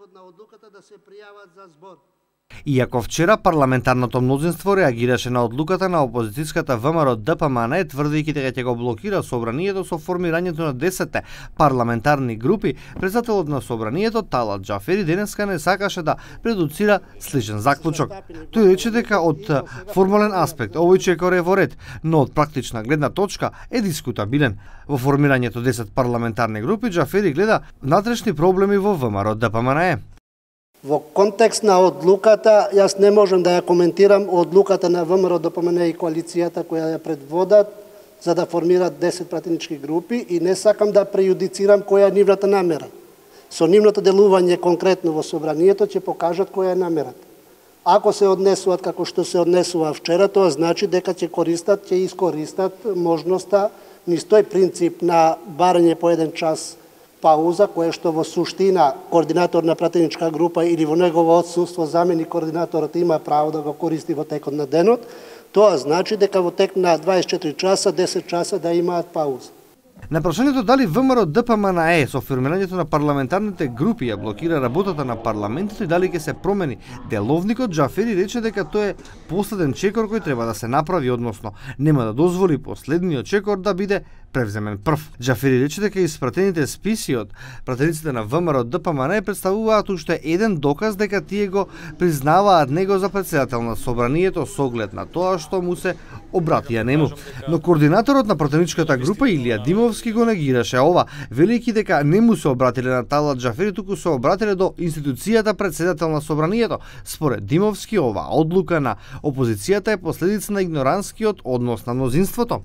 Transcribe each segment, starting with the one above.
превод на одлуката да се пријават за збор. Иако вчера парламентарното мнозинство реагираше на одлуката на опозицијската ВМРО ДПМН, тврдејќи дека ќе го блокира собранието со формирањето на 10 парламентарни групи, председателот на собранието Талат Џафери денеска не сакаше да предуцира сличен заклучок. Тој рече дека од формален аспект овој чекор е во ред, но од практична гледна точка е дискутабилен. Во формирањето 10 парламентарни групи Џафери гледа внатрешни проблеми во ВМРО ДПМН. Во контекст на одлуката, јас не можам да ја коментирам одлуката на ВМРО ДПМН и коалицијата која ја предводат за да формираат 10 пратенички групи и не сакам да прејудицирам која е нивната намера. Со нивното делување конкретно во собранието ќе покажат која е намерата. Ако се однесуваат како што се однесува вчера, тоа значи дека ќе искористат можноста низ тој принцип на барање по 1 час пауза, која што во суштина координатор на пратеничка група или во негово отсуство заменик координаторот има право да го користи во текот на денот, тоа значи дека во тек на 24 часа, 10 часа да имаат пауза. На прашањето дали ВМРО ДПМН со формирањето на парламентарните групи ја блокира работата на парламентот и дали ќе се промени деловникот, Џафери рече дека тоа е последен чекор кој треба да се направи, односно нема да дозволи последниот чекор да биде превземен прв. Џафери рече дека испратените списи од пратениците на ВМРО ДПМН представуваат уште еден доказ дека тие го признаваат него за председател на собранието со оглед на тоа што му се обратија нему. Но координаторот на пратеничката група Илија Димовски го негираше ова, велејќи дека не му се обратиле на Талат Џафери, туку се обратиле до институцијата председател на собранието. Според Димовски, ова одлука на опозицијата е последица на игноранскиот однос на мнозинството.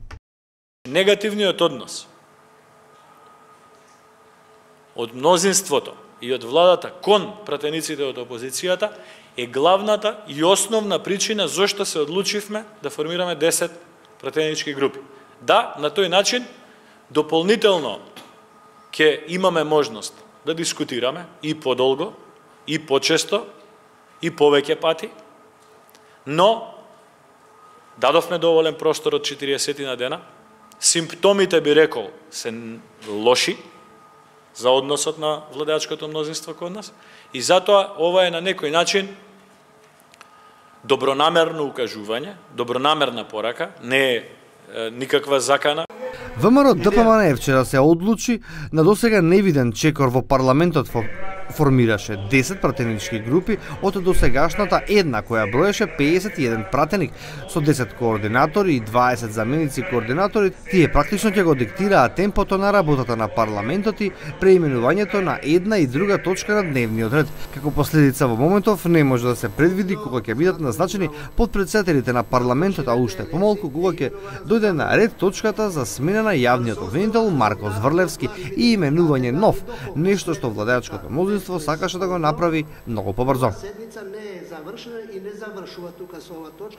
Негативниот однос од мнозинството и од владата кон пратениците од опозицијата е главната и основна причина зошто се одлучивме да формираме 10 пратенички групи. Да, на тој начин дополнително ќе имаме можност да дискутираме и подолго, и почесто, и повеќе пати, но дадовме доволен простор од 40 на дена. Симптомите, би рекол, се лоши за односот на владеачкото мнозинство код нас и затоа ова е на некој начин добронамерно укажување, добронамерна порака, не е никаква закана. ВМРО ДПМН вчера се одлучи на досега невиден чекор во парламентот формираше 10 пратенички групи од досегашната една која броеше 51 пратеник со 10 координатори и 20 заменици координатори. Тие практично ќе го диктираат темпото на работата на парламентот и преименувањето на една и друга точка на дневниот ред. Како последица во моментов не може да се предвиди кога ќе бидат назначени подпредседателите на парламентот, а уште помалку кога ќе дојде на ред точката за смена на јавниот обвинител Марко Зврлевски и именување нов, нешто што владеачкото мнозинство сакаше да го направи многу побрзо. Седница не е завршена и не завршува тука со ова точка.